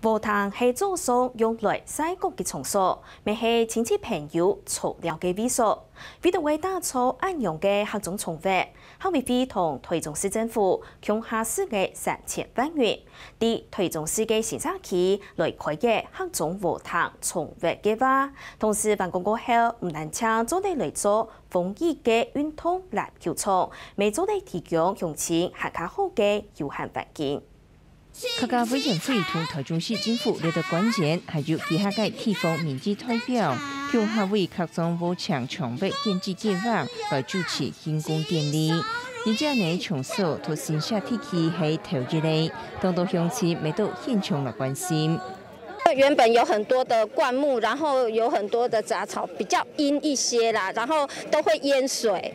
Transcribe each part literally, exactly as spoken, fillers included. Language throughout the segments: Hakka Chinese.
禾埕係早上用來曬穀个場所，乜係親戚朋友坐尞个位所。為著愛打造恁樣个客庄場域，客委會同臺中市政府共下施額三千萬元，在臺中市个新社區來開个客庄禾埕場域計畫。同時完工過後，毋單淨做得來做豐裕个運動籃球場，乜做得提供鄉親還較好个休閒環境。 客家委員會同臺中市政府掠著官員，還有其他个地方民意代表，共下為客庄禾埕場域建置計畫來主持竣工典禮。而這呢場所在新社地區係頭一个，當多鄉親乜到現場來關心。原本有很多的灌木，然後有很多的雜草，比較陰一些啦，然後都會淹水。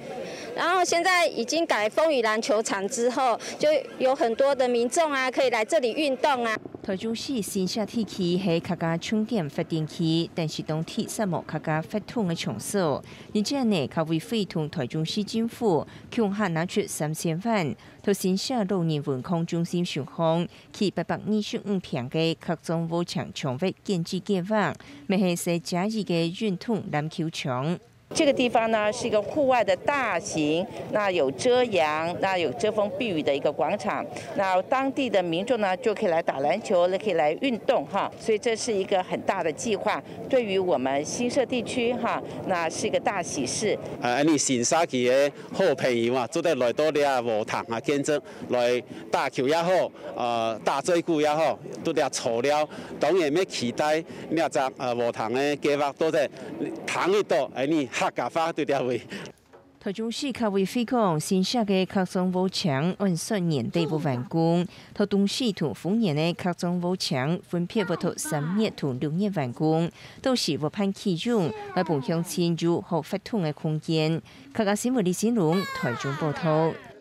然後現在已經改豐裕籃球場之後，就有很多的民眾啊，可以來這裡運動啊。臺中市新社地區係客家重點發展區，但是當地煞無客家活動个場所。因此呢，客委會同臺中市政府共下拿出三千萬，在新社老人文康中心上方，起八百二十五坪个客庄禾埕場域建置計畫，乜係設加一个運動籃球場。 这个地方呢是一个户外的大型，那有遮阳，那有遮风避雨的一个广场。那当地的民众呢就可以来打篮球，可以来运动哈。所以这是一个很大的计划，对于我们新社地区哈，那是一个大喜事。啊，恁呢新社區个好朋友啊，做得來到這禾埕啊，見證來打球也好，呃，打嘴鼓也好，都這坐尞。當然乜期待這隻呃禾埕个計畫，做得聽得到恁呢客家話在這位。 臺中市客委會講，新社个客庄禾埕按算年底會完工，在東勢同豐原个客庄禾埕分別會在三月同六月完工，到時會辦啟用，來分鄉親有好活動个空間。客家新聞李新龍，臺中報導。